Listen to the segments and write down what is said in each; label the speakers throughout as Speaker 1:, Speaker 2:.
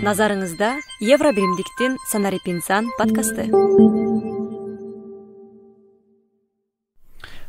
Speaker 1: Назарыңызда Евро биримдиктин Санарип инсан подкасты.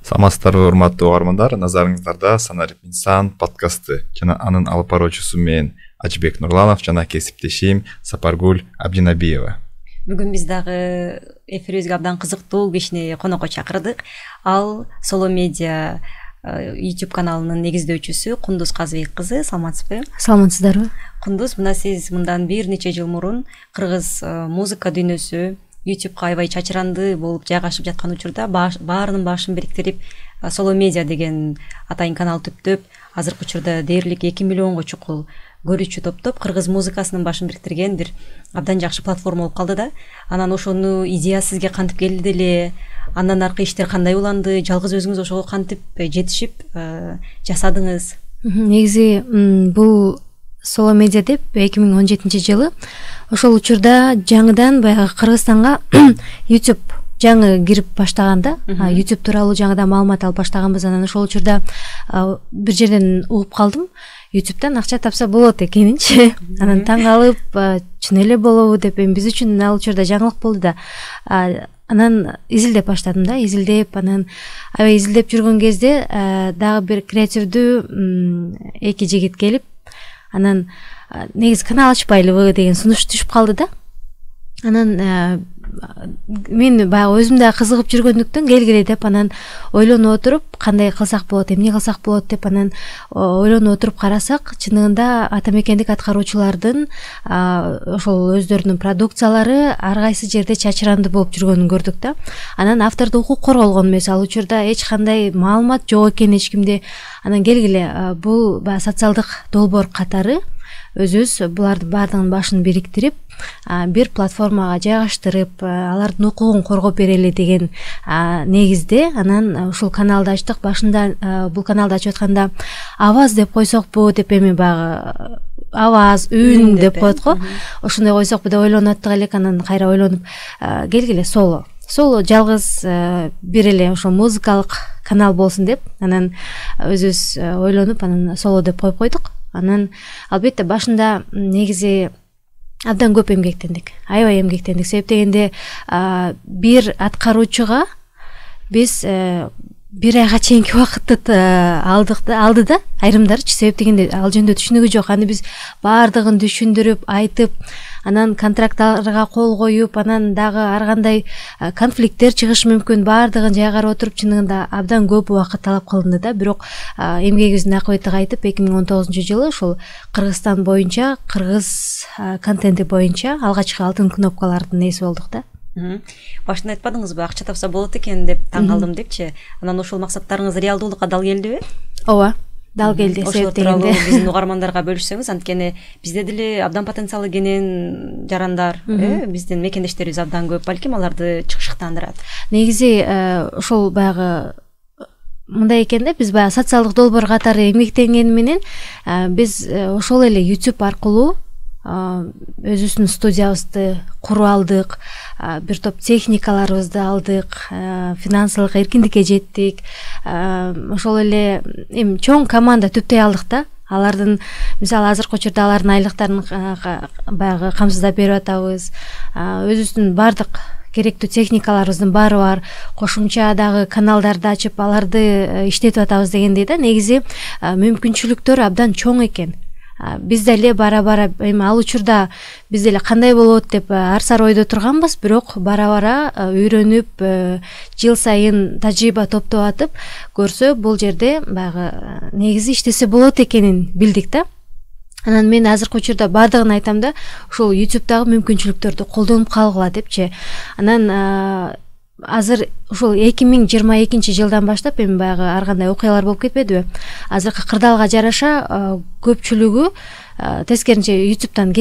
Speaker 2: Саламатсыздарбы урматтуу угармандар, назарыңыздарда Санарип инсан подкасты жана анын алып баруучусу мен Ажыбек Нурланов жана кесиптешим Сапаргул Абдинабиева.
Speaker 1: Бүгүн биз дагы эфирибизге абдан кызыктуу кишини конокко чакырдык. Ал Solo Media YouTube каналынын негиздөөчүсү Кундуз Казыбек кызы. Саламатсызбы?
Speaker 3: Саламатсыздарбы?
Speaker 1: Кундуз, мына сиз мындан бир нече жыл мурун кыргыз музыка дүйнөсү YouTube'га аябай чачыранды болуп жайгашып жаткан учурда баарынын башын бириктирип Solo Media деген атайын канал түптөп, азыркы учурда дээрлик 2 миллионго чукул көрүүчү топтоп кыргыз музыкасынын башын бириктирген бир абдан жакшы платформа болуп калды да. Анан ошону идея сизге кантип келди эле, андан аркы иштер кандай уланды, жалгыз өзүңүз ошого кантип жетишип жасадыңыз?
Speaker 3: Негизи бул Solo Media деп 2017-жылы ошол учурда жаңыдан баягы Кыргызстанга YouTube жаңы кирип баштаганда, YouTube тууралуу жаңыдан маалымат алып баштаганбыз. Анан ошол учурда бир жерден угуп калдым. YouTube'дан акча тапса болот экенинчи. Анан таң калып, чын эле болобу деп, биз үчүн ал учурда жаңылык болду да. Анан изилдеп баштадым да, анан аябай изилдеп жүргөн кезде дагы бир креативдүү эки жигит келип, анан негизи канал ачпайлыбы деген сунуш түшүп калды да. Анан мен баягы өзүм да кызыгып жүргөндүктөн келгиле деп анан ойлонуп отуруп, кандай кылсак болот, эмне кылсак болот деп анан ойлонуп отуруп карасак, чындыгында ата мекендик аткаруучулардын ошол өздөрүнүн продукциялары ар кайсы жерде чачыранды болуп жүргөнүн көрдүк да. Анан автордук укук корголгон эмес, ал учурда эч кандай маалымат жок экен эч кимде. Анан келгиле бул баягы социалдык долбоор катары өзүбүз булардын баардыгынын башын бириктирип, бир платформага жайгаштырып, алардын укугун коргоп берели деген негизде анан ушул каналды ачтык. Башында бул каналды ачып атканда аваз деп койсокпу деп, эми баягы аваз, үн деп коет го. Ошондой койсокпу деп ойлонуп аттык элек. Анан кайра ойлонуп, келгиле Solo жалгыз бир эле ошо музыкалык канал болсун деп, анан өзүбүз ойлонуп, анан Solo деп коюп койдук. Анан албетте башында негизи абдан көп эмгектендик, аябай эмгектендик. Себеп дегенде бир аткаруучуга биз бир айга чейинки убакытты алды да, айрымдарычы. Себеп дегенде ал жөнүндө түшүнүгү жок. Аны биз баардыгын түшүндүрүп, айтып, анан контракттарга кол коюп, анан дагы ар кандай конфликттер чыгышы мүмкүн, баардыгын жайгарып отуруп, чындыгында абдан көп убакыт талап кылынды да. Бирок эмгегибиздин акыбети кайтып 2019-жылы ошол Кыргызстан боюнча, кыргыз контенти боюнча алгачкы алтын кнопкалардын ээси болдук да.
Speaker 1: Башында айтпадыңызбы, акча тапса болот экен деп, таң калдым депчи. Анан ошол максаттарыңыз реалдуулукка дал келдиби?
Speaker 3: Ооба, дал келди.
Speaker 1: Ошол тууралуу биздин угармандарга бөлүшсөңүз, анткени бизде деле абдан потенциалы кенен жарандар, биздин мекендештерибиз абдан көп, балким аларды чыгышыктандырат.
Speaker 3: Негизи ошол баягы мындай экен да, биз баягы социалдык долбоор катары эмгектенгени менен биз ошол эле YouTube аркылуу өзүбүздүн студиябызды куруп алдык, бир топ техникаларыбызды алдык, финансылык эркиндикке жеттик. Ошол эле эми чоң команда түптөй алдык да. Алардын, мисалы, азыркы учурда алардын айлыктарын баягы камсыздап берип атабыз. Өзүбүздүн бардык керектүү техникаларыбыздын баары бар. Кошумча дагы каналдарды ачып, аларды иштетип атабыз дегендей да. Негизи мүмкүнчүлүктөр абдан чоң экен. Биз деле бара-бара, эми ал учурда биз деле кандай болот деп ар сар ойдо турганбыз, бирок бара-бара үйрөнүп, жыл сайын тажрыйба топтоп атып, көрсө бул жерде баягы негизи иштесе болот экенин билдик да. Анан мен азыркы учурда бардыгын айтам да, ушул YouTube'дагы мүмкүнчүлүктөрдү колдонуп калгыла депчи. Анан азыр ушул 2022-жылдан баштап эми баягы ар кандай окуялар болуп кетпедиби? Азыркы кырдаалга жараша көпчүлүгү тескеринче YouTube'дан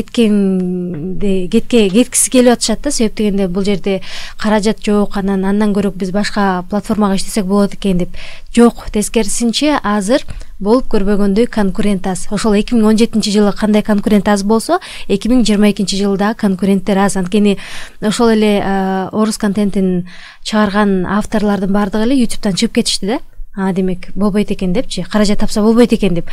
Speaker 3: кеткиси келип атышат да. Себеп дегенде бул жерде каражат жок, андан көрө биз башка платформага иштесек болот экен деп. Жок, тескерисинче азыр болуп көрбөгөндөй конкурент аз. Ошол 2017-жылы кандай конкурент аз болсо, 2022-жылда конкуренттер аз. Анткени ошол эле орус контентин чыгарган авторлордун бардыгы эле YouTube'дан чыгып кетишти да. демек болбойт экен депчи, каражат тапса болбойт экен деп.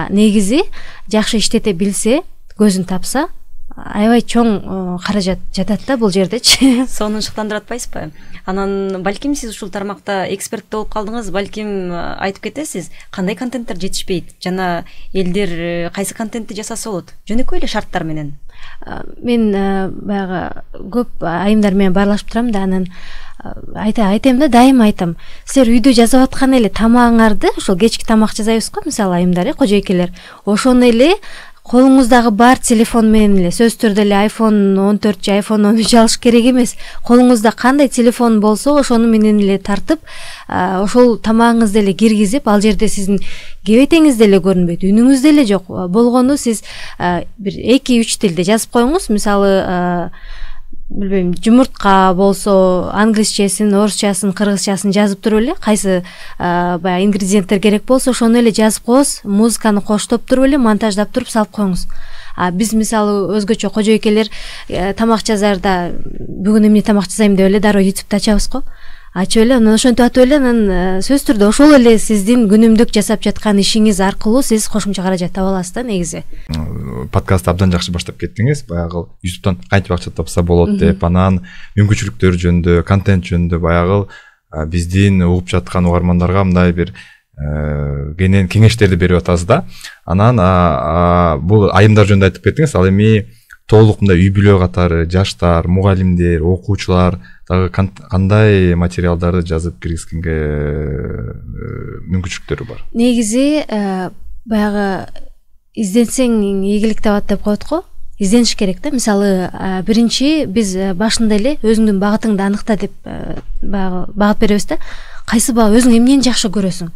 Speaker 3: Негизи жакшы иштете билсе, көзүн тапса, аябай чоң каражат жатат да бул жердечи.
Speaker 1: Сонун шыктандырып атпайсызбы? Анан балким сиз ушул тармакта эксперт болуп калдыңыз, балким айтып кетесиз, кандай контенттер жетишпейт жана элдер кайсы контентти жасаса болот? Жөнөкөй эле шарттар менен.
Speaker 3: Мен баягы көп айымдар менен баарлашып турам да, анан айтайм да, дайыма айтам. Силер үйдө жасап аткан эле тамагыңарды, ошол кечки тамак жасайбыз го, мисалы айымдар, кожойкелер, ошону эле колуңуздагы бар телефон менен эле, сөзсүз түрдө эле iPhone 14 же iPhone 13 алыш керек эмес. Колуңузда кандай телефон болсо, ошону менен эле тартып, ошол тамагыңызды эле киргизип, ал жерде сиздин кебетеңиз деле көрүнбөйт, үнүңүз деле жок. Болгону сиз бир 2-3 тилде жазып коюңуз. Мисалы, билбейм, жумуртка болсо англисчесин, орусчасын, кыргызчасын жазып туруп эле, кайсы баягы ингредиенттер керек болсо ошону эле жазып коюңуз, музыканы коштоп туруп эле монтаждап туруп салып коюңуз. Биз мисалы өзгөчө кожойкелер тамак жазарда бүгүн эмне тамак жасайм деп эле дароо YouTube'да ачабыз го. Ачып эле, анан ошентип атып эле, анан сөзсүз түрдө ошол эле сиздин күнүмдүк жасап жаткан ишиңиз аркылуу сиз кошумча каражат таба аласыз да негизи.
Speaker 2: Подкастты абдан жакшы баштап кеттиңиз. Баягы YouTube'дан кантип акча тапса болот деп, анан мүмкүнчүлүктөр жөнүндө, контент жөнүндө баягы биздин угуп жаткан угармандарга мындай бир кеңештерди берип атасыз да. Анан бул айымдар жөнүндө айтып кеттиңиз. Ал эми толук мындай үй бүлө катары жаштар, мугалимдер, окуучулар дагы кандай материалдарды жазып киргизгенге мүмкүнчүлүктөрү бар? Негизи
Speaker 3: баягы изденсең ийгилик табат деп коет го. Издениш керек да. Мисалы, биринчи биз башында эле өзүңдүн багытыңды аныкта деп баягы багыт беребиз да. Кайсы багыт, өзүң эмнени жакшы көрөсүң?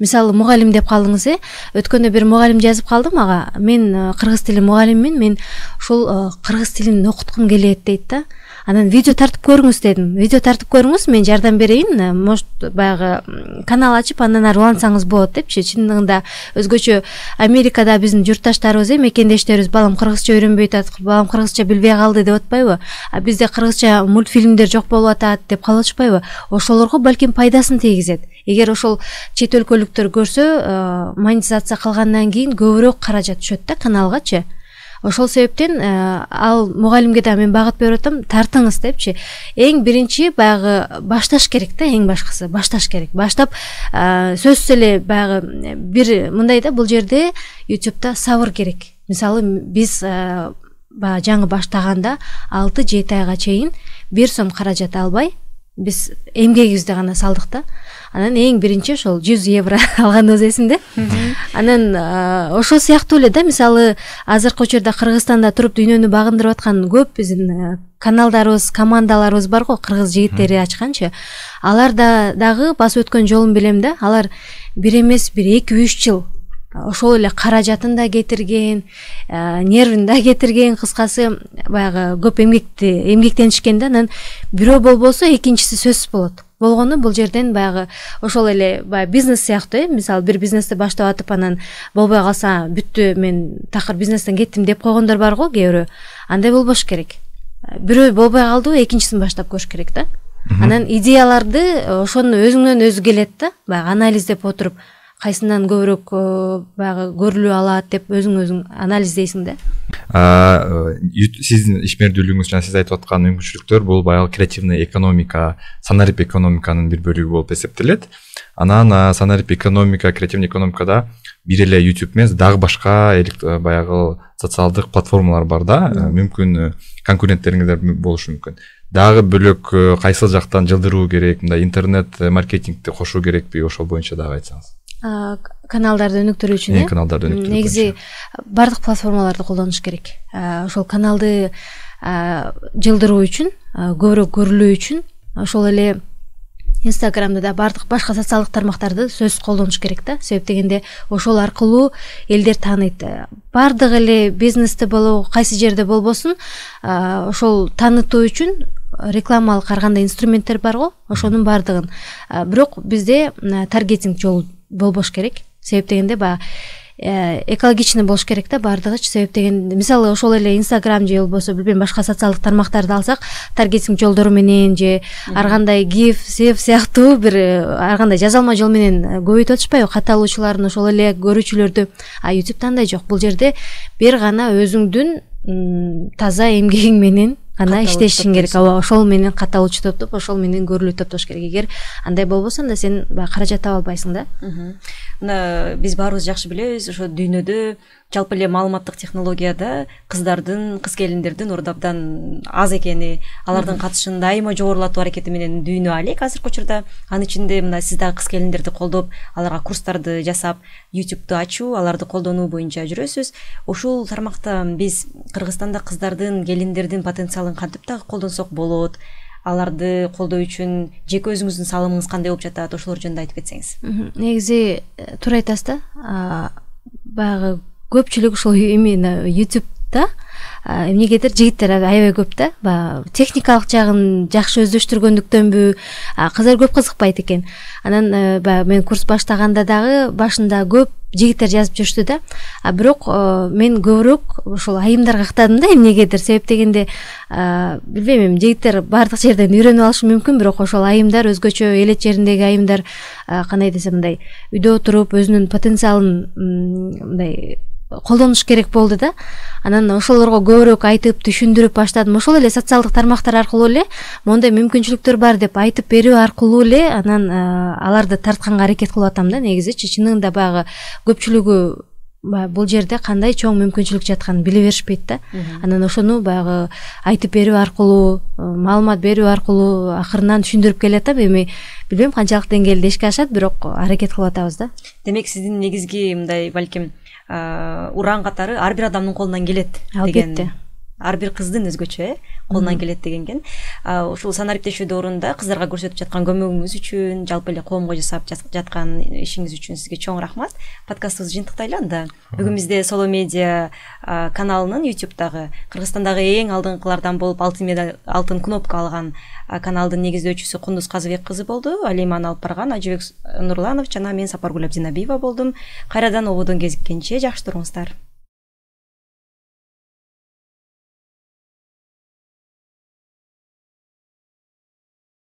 Speaker 3: Мисалы, мугалим деп калдыңыз, өткөндө бир мугалим жазып калды мага. Мен кыргыз тили мугалиммин, мен ушул кыргыз тилин окуткум келет дейт да. Анан видео тартып көрүңүз дедим. Видео тартып көрүңүз, мен жардам берейин. Может, баягы канал ачып, андан ары улантсаңыз болот депчи. Чындыгында өзгөчө Америкада биздин журтташтарыбыз, мекендештерибиз, балам кыргызча үйрөнбөй атат, балам кыргызча билбей калды деп атпайбы? Бизде кыргызча мультфильмдер жок болуп атат деп калып атышпайбы? Ошолорго балким пайдасын тийгизет. Эгер ошол чет өлкөлүктөр көрсө, монетизация кылгандан кийин көбүрөөк каражат түшөт да каналгачы. Ошол себептен ал мугалимге да мен багыт берип атам, тартыңыз депчи. Эң биринчи баягы башташ керек да, эң башкысы башташ керек. Баштап сөзсүз эле баягы бир мындай да, бул жерде YouTube'да сабыр керек. Мисалы, биз жаңы баштаганда 6-7 айга чейин 1 сом каражат албай, биз эмгегибизди гана салдык да. Анан эң биринчи ошол 100 евро алганыбыз эсимде. Анан ошол сыяктуу эле да, мисалы, азыркы учурда Кыргызстанда туруп дүйнөнү багындырып аткан көп биздин каналдарыбыз, командаларыбыз бар го, кыргыз жигиттери ачканчы. Алар дагы басып өткөн жолун билем да. Алар бир эмес, бир 2-3 жыл ошол эле каражатын да кетирген, нервин да кетирген, кыскасы баягы көп эмгектенишкен да. Анан бирөө болбосо экинчиси сөзсүз болот. Болгону бул жерден баягы ошол эле баягы бизнес сыяктуу, мисалы, бир бизнести баштап атып, анан болбой калса бүттү, мен такыр бизнестен кеттим деп койгондор бар го кээ бирөө. Андай болбош керек. Бирөө болбой калды, экинчисин баштап көрүш керек да. Анан идеяларды ошону өзүңдөн өзү келет да, баягы анализдеп отуруп, кайсынан көбүрөөк баягы көрүлүү алат деп өзүң анализдейсиң да.
Speaker 2: Сиздин ишмердүүлүгүңүз жана сиз айтып аткан мүмкүнчүлүктөр бул баягы креативный экономика, санарип экономиканын бир бөлүгү болуп эсептелет. Анан санарип экономика, креативный экономикада бир эле YouTube эмес, дагы башка баягы социалдык платформалар бар да. Мүмкүн конкуренттериңиздер болушу мүмкүн. Дагы бөлөк кайсыл жактан жылдыруу керек, мындай интернет маркетингди кошуу керекпи, ошол боюнча дагы айтсаңыз.
Speaker 3: Каналдарды өнүктүрүү үчүн,
Speaker 2: каналдарды өнүктүрүү үчүн
Speaker 3: негизи бардык платформаларды колдонуш керек. Ошол каналды жылдыруу үчүн, көбүрөөк көрүлүү үчүн, ошол эле Инстаграмда да бардык башка социалдык тармактарды сөзсүз колдонуш керек да. Себеп дегенде ошол аркылуу элдер тааныйт. Бардык эле бизнесте болобу, кайсы жерде болбосун, ошол таанытуу үчүн рекламалык ар кандай инструменттер бар го, ошонун бардыгын. Бирок бизде таргетинг жолу болбош керек. Себеп дегенде баягы экологичный болуш керек да баардыгычы. Себеп дегенде мисалы ошол эле Instagram же болбосо билбейм башка социалдык тармактарды алсак, таргетинг жолдору менен же ар кандай GIF, SEF сыяктуу бир ар кандай жазалма жол менен көбөйтүп атышпайбы катталуучуларын, ошол эле көрүүчүлөрдү. А YouTube'да андай жок. Бул жерде бир гана өзүңдүн таза эмгегиң менен гана иштешиң керек. Ошол менен катталуучу топтоп, ошол менен көрүлүү топтош керек. Эгер андай болбосо анда сен каражат таба албайсың да.
Speaker 1: Мына биз баарыбыз жакшы билебиз, ошо дүйнөдө жалпы эле маалыматтык технологияда кыздардын, кыз келиндердин орду абдан аз экени, алардын катышын дайыма жогорулатуу аракети менен дүйнө алек азыркы учурда. Анын ичинде мына сиз дагы кыз келиндерди колдоп, аларга курстарды жасап, YouTube'ду ачуу, аларды колдонуу боюнча жүрөсүз. Ушул тармакта биз Кыргызстанда кыздардын, келиндердин потенциалын кантип дагы колдонсок болот? Аларды колдоо үчүн жеке өзүңүздүн салымыңыз кандай болуп жатат? Ошолор жөнүндө айтып кетсеңиз.
Speaker 3: Негизи туура айтасыз да. Баягы көпчүлүк ушул именно YouTube'да эмнегедир жигиттер аябай көп да. Баягы техникалык жагын жакшы өздөштүргөндүктөнбү, кыздар көп кызыкпайт экен. Анан баягы мен курс баштаганда дагы башында көп жигиттер жазып жүрүштү да. Бирок мен көбүрөөк ошол айымдарга ыктадым да эмнегедир. Себеп дегенде билбейм, жигиттер баардык жерден үйрөнүп алышы мүмкүн, бирок ошол айымдар өзгөчө элет жериндеги айымдар кандай десем мындай үйдө отуруп өзүнүн потенциалын мындай колдонуш керек болду да. Анан ошолорго көбүрөөк айтып, түшүндүрүп баштадым. Ошол эле социалдык тармактар аркылуу эле мондай мүмкүнчүлүктөр бар деп айтып берүү аркылуу эле анан аларды тартканга аракет кылып атам да. Негизичи чынында баягы көпчүлүгү бул жерде кандай чоң мүмкүнчүлүк жатканын биле беришпейт да. Анан ошону баягы айтып берүү аркылуу, маалымат берүү аркылуу акырынан түшүндүрүп келатам. Эми билбейм канчалык деңгээлде ишке ашат, бирок аракет кылып атабыз да.
Speaker 1: Демек сиздин негизги мындай балким уран катары ар бир адамдын колунан келет
Speaker 3: деген.
Speaker 1: Ар бир кыздын өзгөчө колунан келет деген экен. Ушул санариптешүүдө орунда кыздарга көрсөтүп жаткан көмөгүңүз үчүн, жалпы эле коомго жасап жаткан ишиңиз үчүн сизге чоң рахмат. Подкастыбызды жыйынтыктайлы анда. Бүгүн бизде Solo Media каналынын YouTube'дагы Кыргызстандагы эң алдыңкылардан болуп алтын кнопка алган каналдын негиздөөчүсү Кундуз Казыбек кызы болду. Ал эми аны алып барган Ажыбек Нурланов жана мен Сапаргүл Абдинабиева болдум. Кайрадан ободон кезиккенче жакшы туруңуздар.